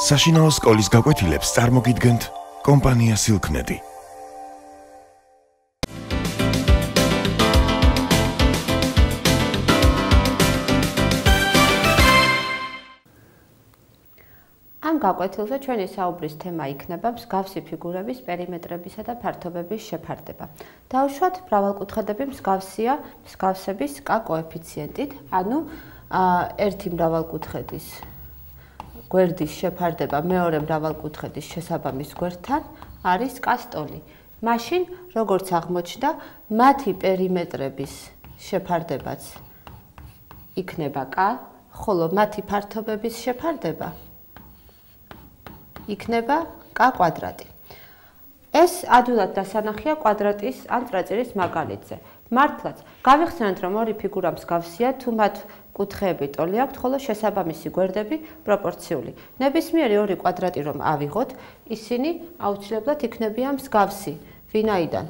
საშინაო სკოლის გაკვეთილებს წარმოგიდგენთ კომპანია Silknet. ამ გაკვეთილზე ჩვენი საუბრის თემა იქნება მსგავსი ფიგურების პერიმეტრებისა და ფართობების შეფარდება. დავუშვათ, მრავალკუთხედები მსგავსია მსგავსების K კოეფიციენტით, ანუ ერთი მრავალკუთხედის გვერდის შეფარდება მეორე მრავალკუთხედის შესაბამის გვერდთან არის K სტოლი. მაშინ, როგორც აღმოჩნდა, მათი პერიმეტრების შეფარდებაც იქნება K, ხოლო მათი ფართობების შეფარდება იქნება K კვადრატი. ეს ადვილად დასანახია კვადრატის ან წრეწირის მაგალითზე. მართლაც, გავიხსენოთ, რომ ორი ფიგურა მსგავსია, თუ მათ კუთხეები ტოლი აქვთ, ხოლო შესაბამისი გვერდები პროპორციული. ნებისმიერი ორი კვადრატი რომ ავიღოთ, ისინი აუცილებლად იქნებიან მსგავსი, ვინაიდან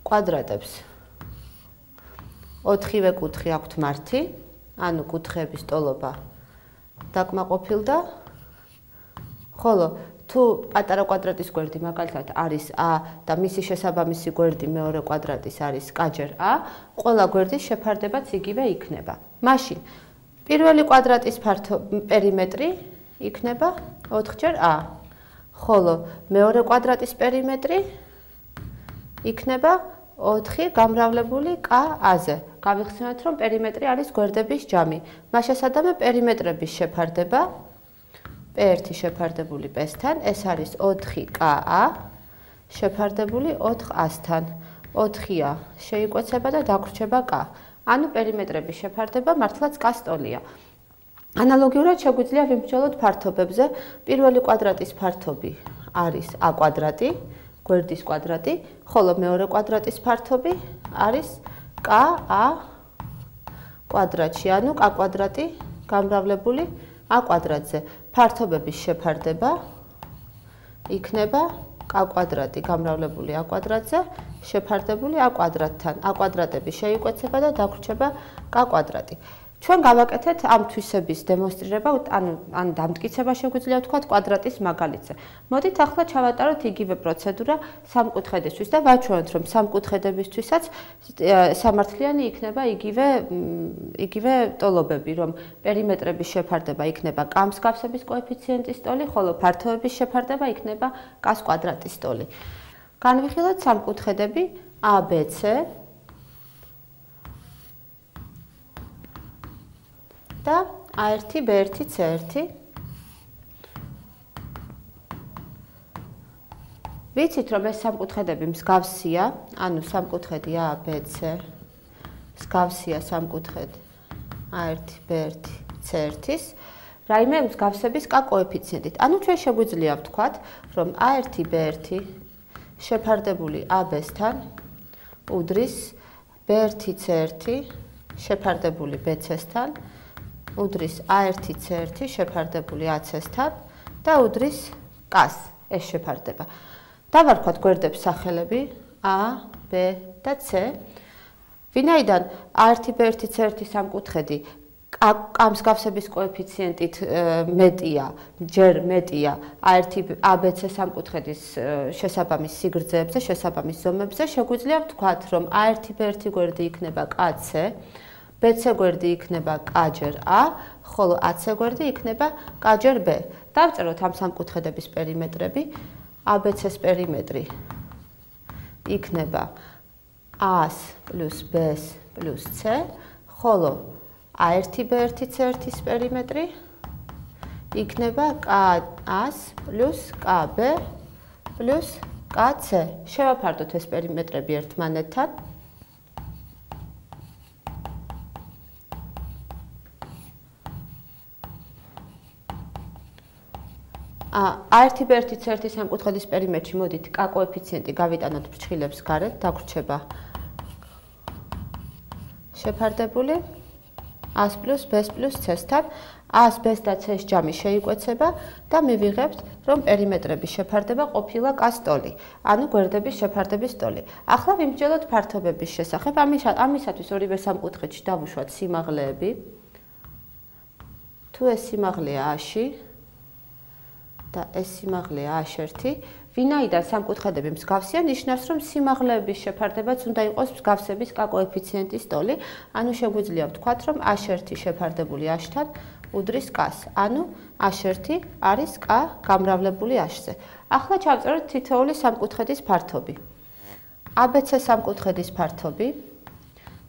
კვადრატებს 4-ვე კუთხე აქვთ მართი, ანუ კუთხეების ტოლობა დაკმაყოფილდა, ხოლო თუ პატარა კვადრატის გვერდი მაგალითად არის A და მისი შესაბამისი გვერდი მეორე კვადრატის არის K-ჯერ A, ყველა გვერდის შეფარდებაც იგივე იქნება. მაშინ პირველი კვადრატის პერიმეტრი იქნება 4-ჯერ A, ხოლო მეორე კვადრატის პერიმეტრი იქნება 4 გამრავლებული K-აზე. გავიხსენოთ, რომ პერიმეტრი არის გვერდების ჯამი. მას შესადამე პერიმეტრების შეფარდება P1 შეფარდებული P-სთან, ეს არის 4K-A შეფარდებული 4A-სთან. 4-ა შეიკვეცება და დაგვრჩება K. ანუ პერიმეტრების შეფარდება მართლაც K სტოლია. ანალოგიურად შეგვიძლია ვიმსჯელოთ ფართობებზე. პირველი კვადრატის ფართობი არის A კვადრატი, გვერდის კვადრატი, ხოლო მეორე კვადრატის ფართობი არის K-A კვადრატში, ანუ K კვადრატი გამრავლებული A კვადრატზე. ფართობების შეფარდება იქნება K კვადრატი გამრავლებული A კვადრატზე შეფარდებული A კვადრატთან. A კვადრატები შეიკვეცება და დაგვრჩება K კვადრატი. ჩვენ გავაკეთეთ ამ თვისების დემონსტრირება, ან დამტკიცება შეგვიძლია ვთქვათ კვადრატის მაგალითზე. მოდით ახლა ჩავატაროთ იგივე პროცედურა სამკუთხედისთვის და ვაჩვენოთ, რომ სამკუთხედებისთვისაც სამართლიანი იქნება იგივე ტოლობები, რომ პერიმეტრების შეფარდება იქნება K მსგავსების კოეფიციენტის ტოლი, ხოლო ფართობების შეფარდება იქნება K კვადრატის ტოლი. განვიხილოთ სამკუთხედები ABC და A1, B1, C1. ვიცით, რომ ეს სამკუთხედები მსგავსია, ანუ სამკუთხედი ABC მსგავსია სამკუთხედ A1, B1, C1-ის, რაიმე მსგავსების K კოეფიციენტით. ანუ ჩვენ შეგვიძლია ვთქვათ, რომ A1, B1 შეფარდებული AB-სთან უდრის B1, C1 შეფარდებული BC-სთან, უდრის A1, C1 შეფარდებული AC-სთან და უდრის K-ს ეს შეფარდება. დავარქვათ გვერდებს სახელები A, B და C. ვინაიდან A1, B1, C1 სამკუთხედი K მსგავსების კოეფიციენტით მეტია, ჯერ მეტია A1, ABC სამკუთხედის შესაბამის სიგრძეებზე, შესაბამის ზომებზე, შეგვიძლია ვთქვათ, რომ A1, B1 გვერდი იქნება KC, BC გვერდი იქნება K-ჯერ A, ხოლო AC გვერდი იქნება K-ჯერ B. დავწეროთ ამ სამკუთხედების პერიმეტრები. ABC-ს პერიმეტრი იქნება A-ს პლუს B-ს პლუს C, ხოლო A1, B1, C1-ის პერიმეტრი იქნება K-A-ს პლუს KB პლუს KC. შევაფარდოთ ეს პერიმეტრები ერთმანეთთან. A1, B1, C1 სამკუთხედის პერიმეტრში მოდით K კოეფიციენტი გავიტანოთ ფრჩხილებს გარეთ, დაგვრჩება შეფარდებული A-ს პლუს B-ს პლუს C-სთან. A-ს, B-ს და C-ს ჯამი შეიკვეცება და მივიღებთ, რომ პერიმეტრების შეფარდება ყოფილა K სტოლი, ანუ გვერდების შეფარდების ტოლი. ახლა ვიმსჯელოთ ფართობების შესახებ. ამისათვის ორივე სამკუთხედში დავუშვათ სიმაღლეები. თუ ეს სიმაღლეა A-ში, და ეს სიმაღლეა A1. ვინაიდან სამკუთხედები მსგავსია, ნიშნავს, რომ სიმაღლეების შეფარდებაც უნდა იყოს მსგავსების K კოეფიციენტის ტოლი. ანუ შეგვიძლია ვთქვათ, რომ A1 შეფარდებული A-თან უდრის K-ს. ანუ A1 არის K გამრავლებული A-ზე. ახლა ჩავწეროთ თითოეული სამკუთხედის ფართობი. ABC სამკუთხედის ფართობი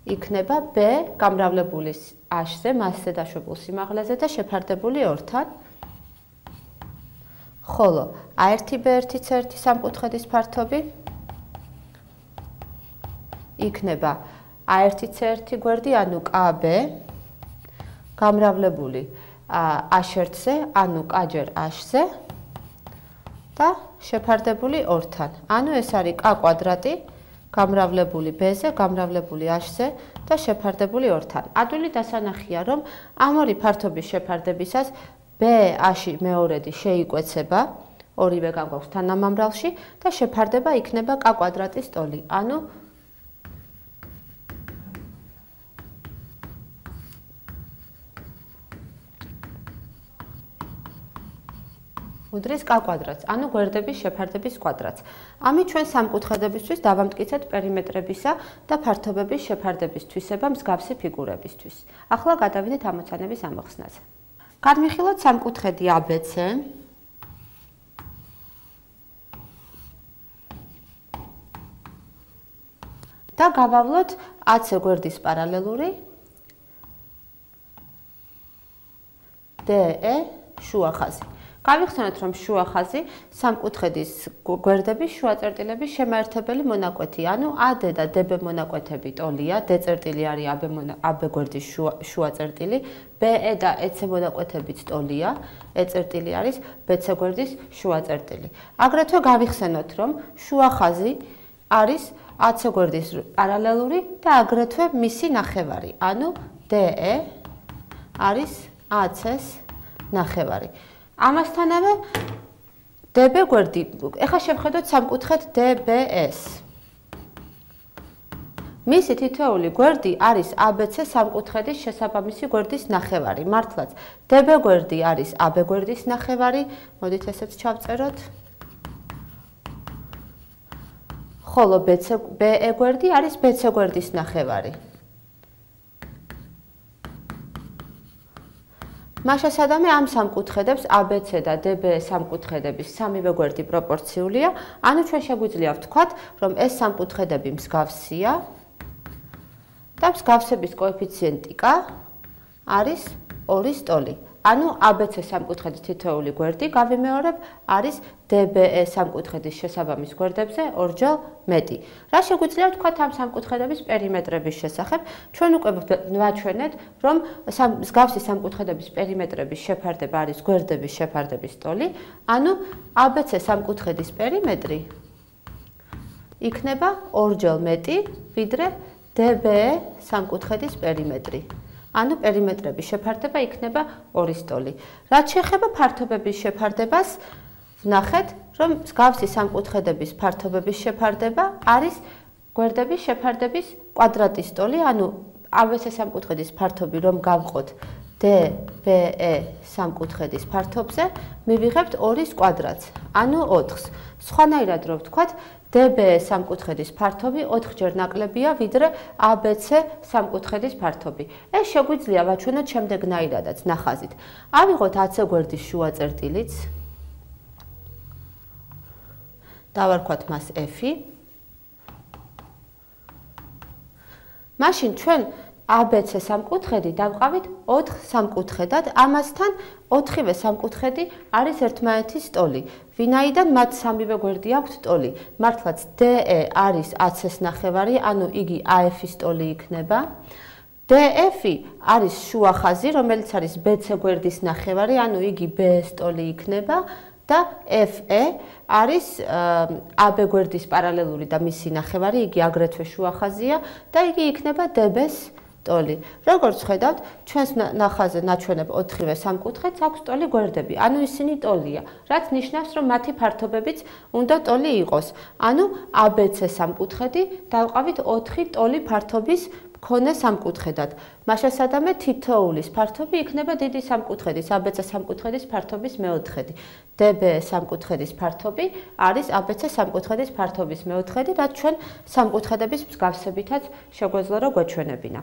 იქნება B გამრავლებული A-ზე, მასზე დაშვებულ სიმაღლეზე და შეფარდებული 2-თან. ხოლო A1B1C1 სამკუთხედის ფართობი იქნება A1C1 გვერდი, ანუ KB გამრავლებული A1-ზე, ანუ K-ჯერ A-ზე და შეფარდებული 2-თან. ანუ ეს არის K კვადრატი გამრავლებული B-ზე, გამრავლებული A-ზე და შეფარდებული 2-თან. ადვილი დასანახია, რომ ამ ორი ფართობის შეფარდებისას B-აში მეორედი შეიკვეცება, ორივე გამგვაქვს თანამამრავლში და შეფარდება იქნება K კვადრატის ტოლი. ანუ უდრის K კვადრატს, ანუ გვერდების შეფარდების კვადრატს. ამით ჩვენ სამკუთხედებისთვის დავამტკიცეთ პერიმეტრებისა და ფართობების შეფარდების თვისება მსგავსი ფიგურებისთვის. ახლა გადავიდეთ ამოცანების ამოხსნაზე. გადმიხილოთ სამკუთხედი ABC და გავავლოთ AC გვერდის პარალელური DE შუა ხაზი. გავიხსენოთ, რომ შუა ხაზი სამკუთხედის გვერდების შუა წერტილების შემაერთებელი მონაკვეთი, ანუ AD და DB მონაკვეთები ტოლია, D წერტილი არის AB გვერდის შუა წერტილი, BE და EC მონაკვეთებიც ტოლია, E წერტილი არის BC გვერდის შუა წერტილი. აგრეთვე გავიხსენოთ, რომ შუა ხაზი არის AC გვერდის პარალელური და აგრეთვე მისი ნახევარი, ანუ DE არის AC-ს ნახევარი. ამასთანავე DB გვერდი, ეხლა შევხედოთ სამკუთხედ DBS. მისი თითოეული გვერდი არის ABC სამკუთხედის შესაბამისი გვერდის ნახევარი. მართლაც DB გვერდი არის AB გვერდის ნახევარი, მოდით ესეც ჩავწეროთ. ხოლო BE გვერდი არის BC გვერდის ნახევარი. მაშასადამე ამ სამკუთხედებს ABC და DB სამკუთხედების სამივე გვერდი პროპორციულია, ანუ ჩვენ შეგვიძლია ვთქვათ, რომ ეს სამკუთხედები მსგავსია და მსგავსების კოეფიციენტი K არის 2-ის ტოლი. ანუ ABC სამკუთხედის თითოეული გვერდი, გავიმეორებ, არის DBE სამკუთხედის შესაბამის გვერდებზე ორჯერ მეტი. რა შეგვიძლია ვთქვათ ამ სამკუთხედების პერიმეტრების შესახებ? ჩვენ უკვე ვაჩვენეთ, რომ მსგავსი სამკუთხედების პერიმეტრების შეფარდება არის გვერდების შეფარდების ტოლი, ანუ ABC სამკუთხედის პერიმეტრი იქნება ორჯერ მეტი, ვიდრე DBE სამკუთხედის პერიმეტრი. ანუ პერიმეტრების შეფარდება იქნება 2-ის ტოლი. რაც შეეხება ფართობების შეფარდებას, ვნახეთ, რომ მსგავსი სამკუთხედების ფართობების შეფარდება არის გვერდების შეფარდების კვადრატის ტოლი, ანუ ABC სამკუთხედის ფართობი რომ გავყოთ DBE სამკუთხედის ფართობზე, მივიღებთ 2-ის კვადრატს, ანუ 4-ს. სხვანაირად რო ვთქვათ, DBE სამკუთხედის ფართობი 4-ჯერ ნაკლებია, ვიდრე ABC სამკუთხედის ფართობი. ეს შეგვიძლია ვაჩვენოთ შემდეგნაირადაც, ნახაზით. ავიღოთ AC გვერდის შუა წერტილიც, დავარქვათ მას F-ი. მაშინ ჩვენ ABC სამკუთხედი დავყავით 4 სამკუთხედად, ამასთან 4-ვე სამკუთხედი არის ერთმანეთის ტოლი. ვინაიდან მათ სამივე გვერდი აქვთ ტოლი. მართლაც DE არის AC-ს ნახევარი, ანუ იგი AF-ის ტოლი იქნება. DF-ი არის შუა ხაზი, რომელიც არის BC გვერდის ნახევარი, ანუ იგი B-ს ტოლი იქნება. და FE არის AB გვერდის პარალელური და მისი ნახევარი, იგი აგრეთვე შუა ხაზია და იგი იქნება DB-ს ტოლი. როგორც ხედავთ, ჩვენს ნახაზზე ნაჩვენებ 4-ვე სამკუთხედს აქვს ტოლი გვერდები, ანუ ისინი ტოლია, რაც ნიშნავს, რომ მათი ფართობებიც უნდა ტოლი იყოს. ანუ ABC სამკუთხედი დავყავით 4 ტოლი ფართობის მქონე სამკუთხედად. მაშასადამე თითოეულის ფართობი იქნება დიდი სამკუთხედის, ABC სამკუთხედის ფართობის მეოთხედი. DB სამკუთხედის ფართობი არის ABC სამკუთხედის ფართობის მეოთხედი, რაც ჩვენ სამკუთხედების მსგავსებითაც შეგვეძლო რომ გვეჩვენებინა.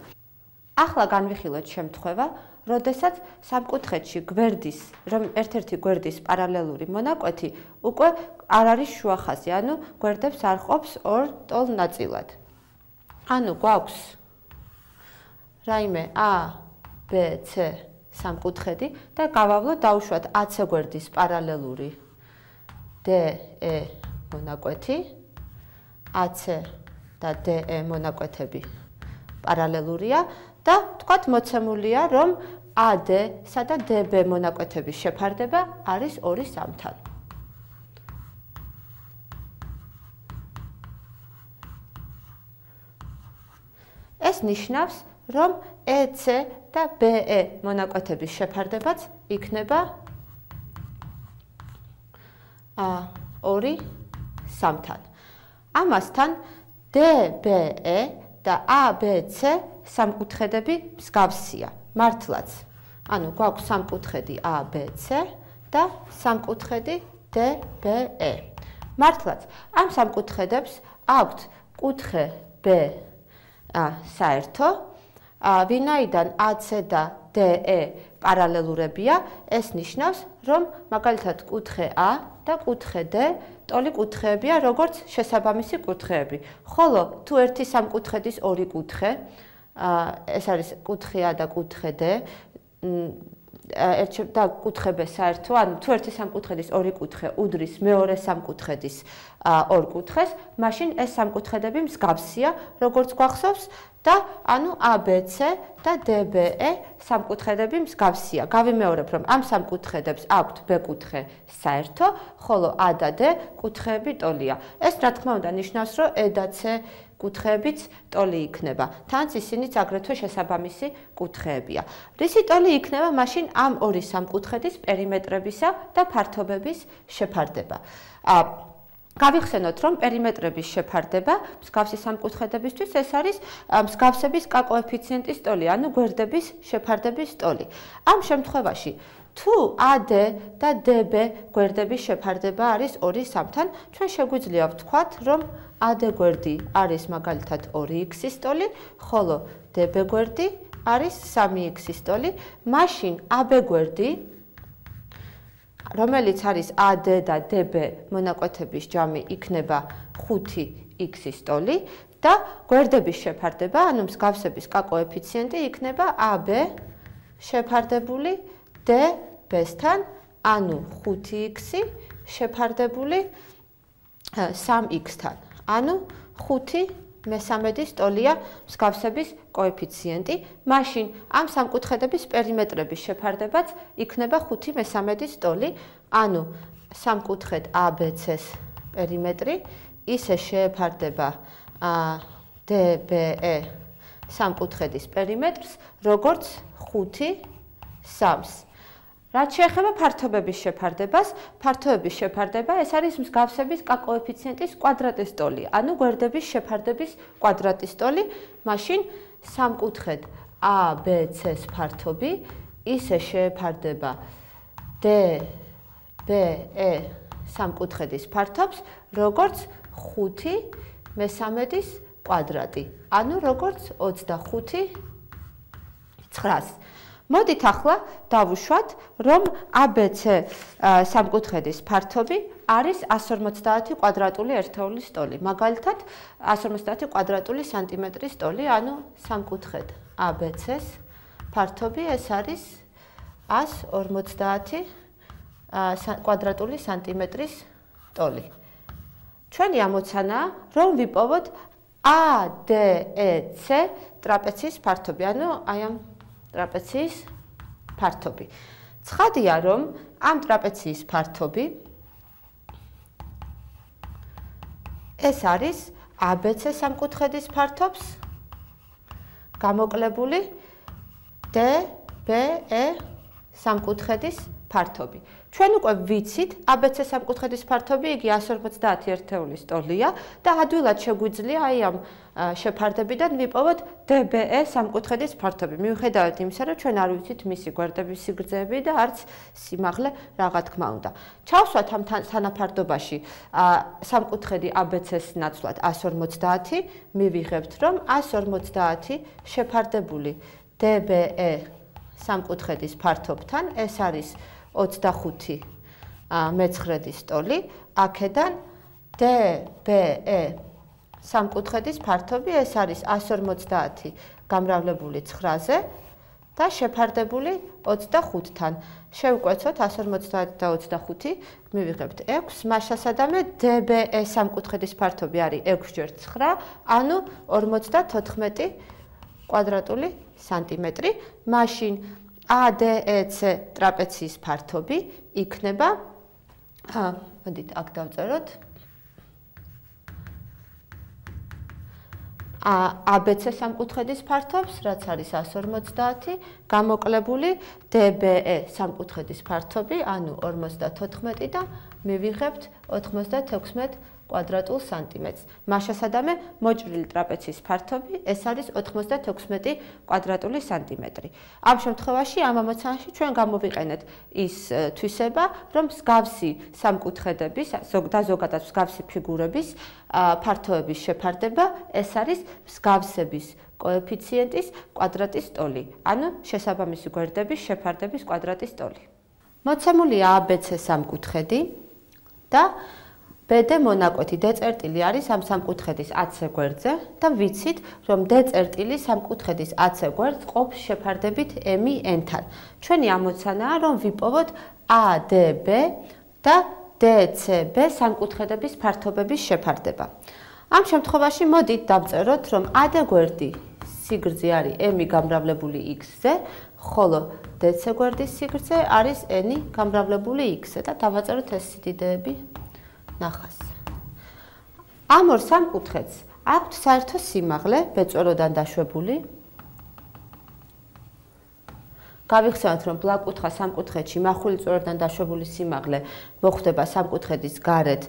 ახლა განვიხილოთ შემთხვევა, როდესაც სამკუთხედში გვერდის, რომ ერთ-ერთი გვერდის პარალელური მონაკვეთი უკვე არ არის შუახაზი, ანუ გვერდებს არ ყოფს ორ ტოლ ნაწილად. ანუ გვაქვს რაიმე A, B, C სამკუთხედი და გავავლოთ დავუშვათ AC გვერდის პარალელური DE მონაკვეთი, AC და DE მონაკვეთები პარალელურია და თქვათ მოცემულია, რომ AD-სა და DB მონაკვეთების შეფარდება არის 2 3-თან. ეს ნიშნავს, რომ EC და BE მონაკვეთების შეფარდებაც იქნება 2 3-თან. ამასთან DBE და ABC სამკუთხედები მსგავსია. მართლაც. ანუ გვაქვს სამკუთხედი ABC და სამკუთხედი DBE. მართლაც, ამ სამკუთხედებს აქვთ კუთხე B საერთო, ვინაიდან AC და DE პარალელურებია, ეს ნიშნავს, რომ მაგალითად კუთხე A და კუთხე D ტოლი კუთხეებია, როგორც შესაბამისი კუთხეები. ხოლო თუ ერთი სამკუთხედის ორი კუთხე, ეს არის კუთხე A და კუთხე D, და კუთხე B საერთო, ანუ თუ ერთი სამკუთხედის ორი კუთხე უდრის მეორე სამკუთხედის ორ კუთხეს, მაშინ ეს სამკუთხედები მსგავსია, როგორც გვახსოვს, და ანუ ABC და DBE სამკუთხედები მსგავსია. გავიმეორებ, რომ ამ სამკუთხედებს აქვთ B კუთხე საერთო, ხოლო A და D კუთხეები ტოლია. ეს რა თქმა უნდა ნიშნავს, რომ E და C კუთხეებიც ტოლი იქნება. თანაც ისინიც აგრეთვე შესაბამისი კუთხეებია. რისი ტოლი იქნება მაშინ ამ ორი სამკუთხედის პერიმეტრებისა და ფართობების შეფარდება. გავიხსენოთ, რომ პერიმეტრების შეფარდება მსგავსი სამკუთხედებისთვის ეს არის მსგავსების K კოეფიციენტის ტოლი, ანუ გვერდების შეფარდების ტოლი. ამ შემთხვევაში თუ AD და DB გვერდების შეფარდება არის 2 3-თან, ჩვენ შეგვიძლია ვთქვათ, რომ AD გვერდი არის მაგალითად 2x-ის ტოლი, ხოლო DB გვერდი არის 3x-ის ტოლი, მაშინ AB გვერდი, რომელიც არის AD და DB მონაკვეთების ჯამი, იქნება 5x-ის ტოლი და გვერდების შეფარდება, ანუ მსგავსების K კოეფიციენტი იქნება AB შეფარდებული DB-სთან, ანუ 5x შეფარდებული 3x-თან. ანუ 5/3 ტოლია მსგავსების კოეფიციენტი, მაშინ ამ სამკუთხედების პერიმეტრების შეფარდებაც იქნება 5/3 ტოლი, ანუ სამკუთხედ ABC-ს პერიმეტრი ისე შეეფარდება DBE სამკუთხედის პერიმეტრს, როგორც 5/3-ს. რაც შეეხება ფართობების შეფარდებას, ფართობების შეფარდება ეს არის მსგავსების K კოეფიციენტის კვადრატის ტოლი, ანუ გვერდების შეფარდების კვადრატის ტოლი, მაშინ სამკუთხედ ABC-ს ფართობი ისე შეეფარდება DBE სამკუთხედის ფართობს, როგორც 5/3 კვადრატი, ანუ როგორც 25/9-ს. მოდით ახლა დავუშვათ, რომ ABC სამკუთხედის ფართობი არის 150 კვადრატული ერთეულის ტოლი. მაგალითად, 150 კვადრატული სანტიმეტრის ტოლი, ანუ სამკუთხედ ABC-ს ფართობი ეს არის 150 კვადრატული სანტიმეტრის ტოლი. ჩვენი ამოცანაა, რომ ვიპოვოთ ADEC ტრაპეციის ფართობი, ანუ აი ამ ტრაპეციის ფართობი. ცხადია, რომ ამ ტრაპეციის ფართობი ეს არის ABC სამკუთხედის ფართობს გამოკლებული DBE სამკუთხედის ფართობი. ჩვენ უკვე ვიცით, ABC სამკუთხედის ფართობი იგი 150 ერთეულის ტოლია და ადვილად შეგვიძლია აი ამ შეფარდებიდან ვიპოვოთ DBE სამკუთხედის ფართობი. მიუხედავად იმისა, რომ ჩვენ არ ვიცით მისი გვერდების სიგრძეები და არც სიმაღლე რა თქმა უნდა. ჩავსვათ ამ თანაფარდობაში სამკუთხედი ABC-ს ნაცვლად 150, მივიღებთ, რომ 150 შეფარდებული DBE სამკუთხედის ფართობთან, ეს არის 25 მეცხრედის ტოლი, აქედან DBE სამკუთხედის ფართობი, ეს არის 150 გამრავლებული 9-ზე და შეფარდებული 25-თან. შევკვეცოთ 150 და 25, მივიღებთ 6, მაშასადამე DBE სამკუთხედის ფართობი არის 6 × 9, ანუ 54 კვადრატული სანტიმეტრი. მაშინ ADEC ტრაპეციის ფართობი იქნება, მოდით აქ დავწეროთ, ABC სამკუთხედის ფართობს, რაც არის 150, გამოკლებული DBE სამკუთხედის ფართობი, ანუ 54 და მივიღებთ 96 კვადრატულ სანტიმეტრს. მაშასადამე მოჭრილი ტრაპეციის ფართობი, ეს არის 96 კვადრატული სანტიმეტრი. ამ შემთხვევაში ამ ამოცანაში ჩვენ გამოვიყენეთ ის თვისება, რომ მსგავსი სამკუთხედების და ზოგადად მსგავსი ფიგურების ფართოების შეფარდება, ეს არის მსგავსების კოეფიციენტის კვადრატის ტოლი, ანუ შესაბამისი გვერდების შეფარდების კვადრატის ტოლი. მოცემულია ABC სამკუთხედი და BD მონაკვეთი D წერტილი არის ამ სამკუთხედის AC გვერდზე და ვიცით, რომ D წერტილი სამკუთხედის AC გვერდს ყოფს შეფარდებით M-N-თან. ჩვენი ამოცანაა, რომ ვიპოვოთ ADB და DCB სამკუთხედების ფართობების შეფარდება. ამ შემთხვევაში მოდით დავწეროთ, რომ AD გვერდი სიგრძე არის M გამრავლებული X-ზე, ხოლო DC გვერდის სიგრძე არის N გამრავლებული X-ზე და დავაწეროთ ეს სიდიდეები ნახას. ამ ორ სამკუთხედს აქვთ საერთო სიმაღლე ბეწვეროდან დაშვებული. გავიხსენოთ, რომ ბლაკუთხა სამკუთხედში მახვილი წვეროდან დაშვებული სიმაღლე მოხვდება სამკუთხედის გარეთ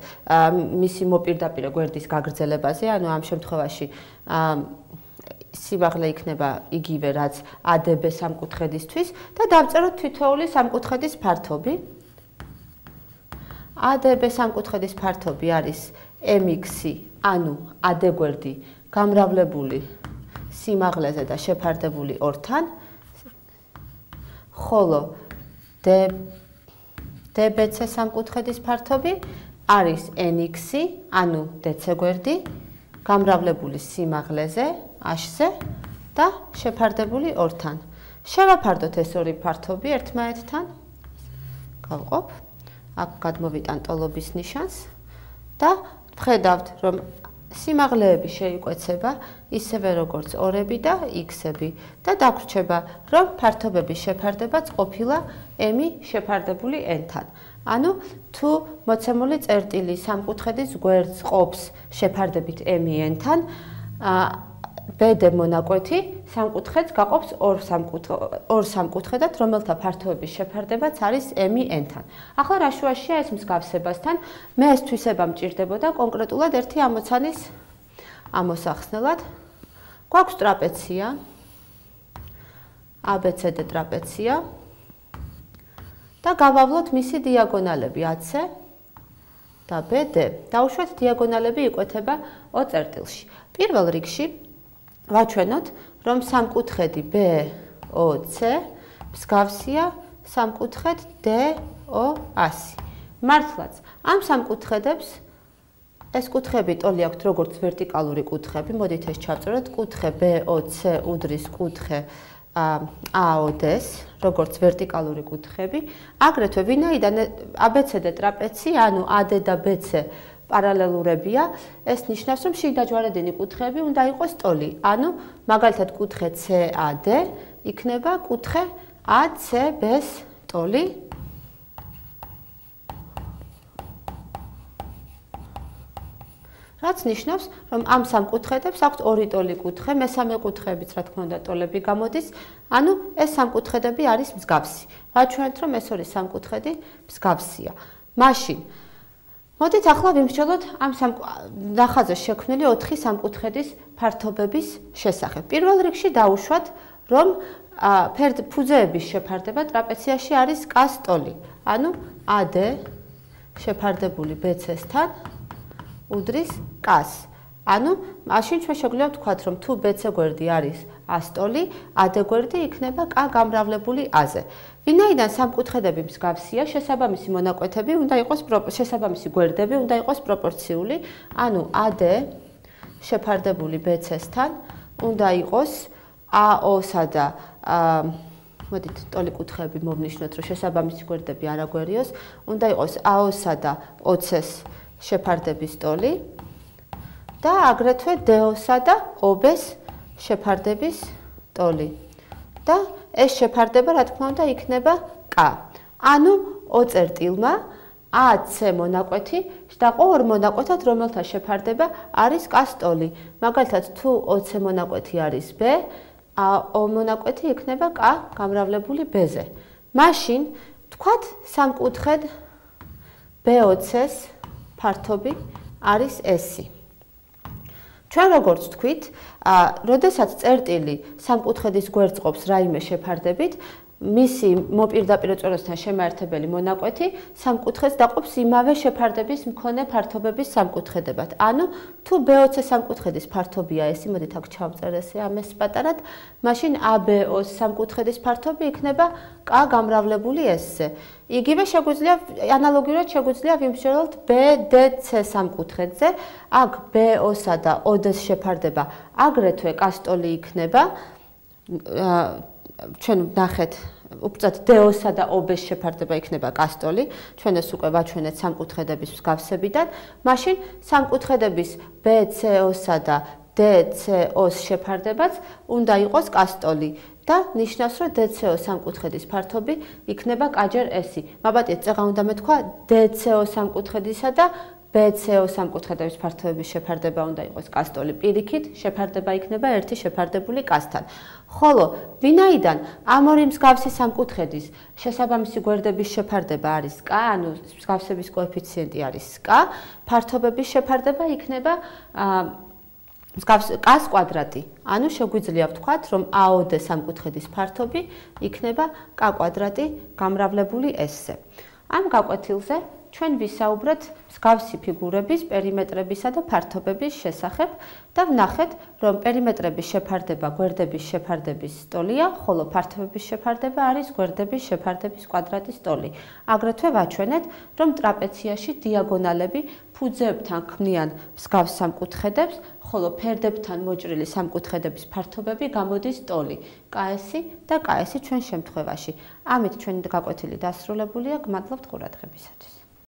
მისი მოპირდაპირე გვერდის გაგრძელებაზე, ანუ ამ შემთხვევაში სიმაღლე იქნება იგივე, რაც ADB სამკუთხედისთვის და დავწეროთ თითოეული სამკუთხედის ფართობი. ADB სამკუთხედის ფართობი არის MX, ანუ AD გვერდი გამრავლებული სიმაღლეზე და შეფარდებული 2-თან, ხოლო DBC სამკუთხედის ფართობი არის NX, ანუ DC გვერდი გამრავლებული სიმაღლეზე, H-ზე და შეფარდებული 2-თან. შევაფარდოთ ეს ორი ფართობი ერთმანეთთან. გავყოფ. აქ გადმოვიტან ტოლობის ნიშანს და ვხედავთ, რომ სიმაღლეები შეიკვეცება ისევე როგორც ორები და X-ები და დაგვრჩება, რომ ფართობების შეფარდებაც ყოფილა M შეფარდებული N-თან. ანუ თუ მოცემული წერტილი სამკუთხედის გვერდს ყოფს შეფარდებით M-N-თან, BD მონაკვეთი სამკუთხედს გაყოფს ორ სამკუთხედად, რომელთა ფართოების შეფარდებაც არის M-N-თან. ახლა რა შუაშია ეს მსგავსებასთან? მე ეს თვისება მჭირდებოდა კონკრეტულად ერთი ამოცანის ამოსახსნელად. გვაქვს ტრაპეცია, ABCD ტრაპეცია და გავავლოთ მისი დიაგონალები AC და BD. დავუშვათ დიაგონალები იკვეთება O წერტილში. პირველ რიგში ვაჩვენოთ, რომ სამკუთხედი BOC მსგავსია სამკუთხედ DOA-ს. მართლაც, ამ სამკუთხედებს ეს კუთხეები ტოლი აქვთ როგორც ვერტიკალური კუთხეები, მოდით ეს ჩავწეროთ, კუთხე BOC უდრის კუთხე AOD-ს, როგორც ვერტიკალური კუთხეები, აგრეთვე ვინაიდან ABCD ტრაპეცია, ანუ AD და BC პარალელურებია, ეს ნიშნავს, რომ შიგდაჯვარედინი კუთხეები უნდა იყოს ტოლი. ანუ, მაგალითად, კუთხე CAD იქნება კუთხე ACB-ს ტოლი. რაც ნიშნავს, რომ ამ სამკუთხედებს აქვთ ორი ტოლი კუთხე, მესამე კუთხეებიც რა თქმა უნდა ტოლები გამოდის, ანუ ეს სამკუთხედები არის მსგავსი. ვაჩვენებთ, რომ ეს ორი სამკუთხედი მსგავსია. მაშინ მოდით ახლა ვიმსჯელოთ ამ ნახაზზე შექმნილი 4 სამკუთხედის ფართობების შესახებ. პირველ რიგში დავუშვათ, რომ ფუძეების შეფარდება ტრაპეციაში არის კას ტოლი. ანუ AD შეფარდებული BC-სთან უდრის კას. ანუ მაშინ ჩვენ შეგვიძლია ვთქვათ, რომ თუ BC გვერდი არის A-ს ტოლი, AD გვერდი იქნება K გამრავლებული A-ზე. ვინაიდან სამკუთხედები მსგავსია, შესაბამისი მონაკვეთები უნდა იყოს შესაბამისი გვერდები უნდა იყოს პროპორციული, ანუ AD შეფარდებული BC-სთან უნდა იყოს AO-სა და მოდით ტოლი კუთხეები მოვნიშნოთ, რომ შესაბამისი გვერდები არ აგვერიოს, უნდა იყოს AO-სა და OC-ს შეფარდების ტოლი და აგრეთვე DO-სა და OB-ს შეფარდების ტოლი. და ეს შეფარდება, რა თქმა უნდა, იქნება K. ანუ O წერტილმა AC მონაკვეთი შედაყო ორ მონაკვეთად, რომელთა შეფარდება არის K-ს ტოლი. მაგალითად, თუ OC მონაკვეთი არის B, O მონაკვეთი იქნება K გამრავლებული B-ზე. მაშინ თქვათ სამკუთხედ BOC-ს ფართობი არის S. ჩვენ როგორც თქვით, როდესაც წერტილი სამკუთხედის გვერდს ყოფს რაიმე შეფარდებით, მისი მოპირდაპირ წვრილთან შემაერთებელი მონაკვეთი სამკუთხედს დაყოფს იმავე შეფარდების მქონე ფართობების სამკუთხედებად. ანუ თუ BOC სამკუთხედის ფართობია S, მოდით აქ ჩავწერ ესე ამას პატარად, მაშინ ABO-ს სამკუთხედის ფართობი იქნება K გამრავლებული S-ზე. იგივე შეგვიძლია ანალოგიურად შეგვიძლია ვიმსჯელოთ BDC სამკუთხედზე, აქ BO-სა და OD-ს შეფარდება აგრეთვე K-ს ტოლი იქნება. ჩვენ ვნახეთ უბრალოდ DO-სა და OB-ს შეფარდება იქნება K-ს ტოლი. ჩვენ ეს უკვე ვაჩვენეთ სამკუთხედების მსგავსებიდან. მაშინ სამკუთხედების BCO-სა და DCO-ს შეფარდებაც უნდა იყოს K-ს ტოლი. და ნიშნავს, რომ DCO სამკუთხედის ფართობი იქნება K-ჯერ S. მაბატიეთ, წეღა უნდა მეთქვა DCO სამკუთხედისა და BCO სამკუთხედების ფართობების შეფარდება უნდა იყოს K-ს ტოლი. პირიქით შეფარდება იქნება ერთი შეფარდებული K-სთან. ხოლო ვინაიდან ამ ორი მსგავსი სამკუთხედის შესაბამისი გვერდების შეფარდება არის K, ანუ მსგავსების კოეფიციენტი არის K, ფართობების შეფარდება იქნება K-ს კვადრატი. ანუ შეგვიძლია ვთქვათ, რომ AOD სამკუთხედის ფართობი იქნება K კვადრატი გამრავლებული S-ზე. ამ გაკვეთილზე ჩვენ ვისაუბრეთ მსგავსი ფიგურების, პერიმეტრებისა და ფართობების შესახებ და ვნახეთ, რომ პერიმეტრების შეფარდება გვერდების შეფარდების ტოლია, ხოლო ფართობების შეფარდება არის გვერდების შეფარდების კვადრატის ტოლი. აგრეთვე ვაჩვენეთ, რომ ტრაპეციაში დიაგონალები ფუძეებთან ქმნიან მსგავს სამკუთხედებს, ხოლო ფერდებთან მოჭრილი სამკუთხედების ფართობები გამოდის ტოლი KS და KS ჩვენ შემთხვევაში. ამით ჩვენი გაკვეთილი დასრულებულია. გმადლობთ ყურადღებისათვის.